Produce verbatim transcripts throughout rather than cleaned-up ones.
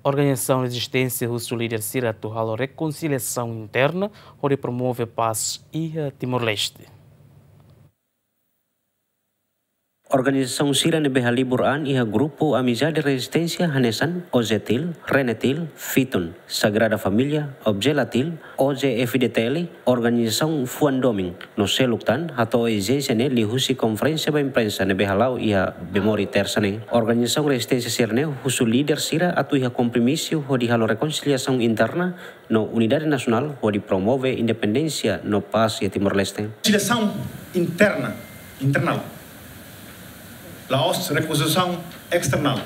Organizasaun rezisténsia husu líder sira atu halo rekonsiliasaun interna hodi promove pás iha Timor-Leste. Organizasaun sira ne'ebé halibur an iha grupu Amizade Rezisténsia hanesan OJETIL, RENETIL, FITUN, Sagrada Família, OBJELATIL, OJFDTL, organizasaun fuan domin, no seluk tan hato'o ezijénsia ne'e liuhusi konferénsia ba imprensa ne'ebé hala'o iha Bemori Tersa ne'e. Organizasaun rezisténsia sira-ne'e husu líder sira atu iha kompromisu hodi halo rekonsiliasaun interna no unidade nasionál hodi promove independénsia no pás iha Timor-Leste. Rekonsiliasaun interna, internal. La'ós rekonsiliasaun esternál.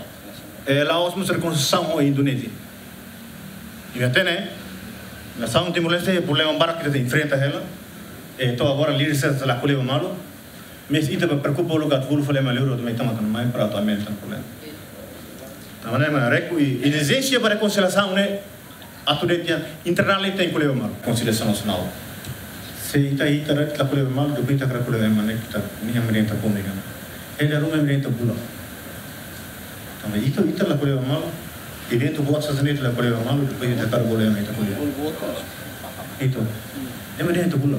Eh, la'ós mós rekonsiliasaun ho Indonézia. Imi hatene, nasaun Timor-Leste problema barak ita enfrenta hela. Eh, to'o agora líder sira la ko'alia ba malu. Mas ita preokupa loke atu bolu fali ema liur atu mai tama tan mai para atu aumenta problema. Tanba ne'e mak reku i ezijénsia ba rekonsiliasaun ne'e atu dehan internal ita tenke ko'alia ba malu. Rekonsiliasaun nasionál. Se ita, ita la ko'alia ba malu, depois ita hakarak ko'alia ba ema ne'e, ita, nia mak dehan ita pun ne'e. Ida ruma mak dehan ita bula. Tanba ita, ita la ko'alia ba malu, eventu buat sasán ita la ko'alia ba malu, depois ita hakarak bolu ema ita ko'alia. Ita. Ema dehan ita bula.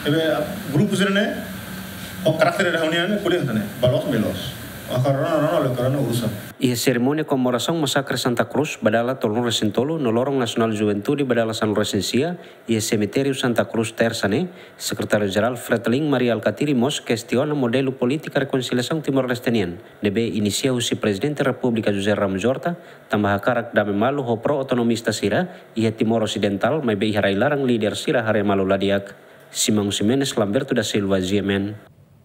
Ebe grupu sira-ne'e, ho karakter ida hanesan ne'e, ko'alia hanesan ne'e, ba loos, ba loos. Agora rona, rona, rona, rona urusan. Iha serimónia komemorasaun masakre Santa Cruz ba dala tolunulu-resin-tolu no Loron Nasionál Juventude ba dala sanulu-resin-sia, iha semitériu Santa Cruz Tersa ne'e, Sekretáriu Jerál Fretilin Mari Alkatiri mós kestiona modelu polítika rekonsiliasaun Timor-Leste nian, ne'ebé inisia husi Prezidente Repúblika José Ramos Horta, tanba hakarak dame malu ho pro-autonomista sira iha Timor Osidentál, maibé iha rai-laran líder sira haree malu la di'ak. Simão Ximenes, Lamberto da Silva, G M N.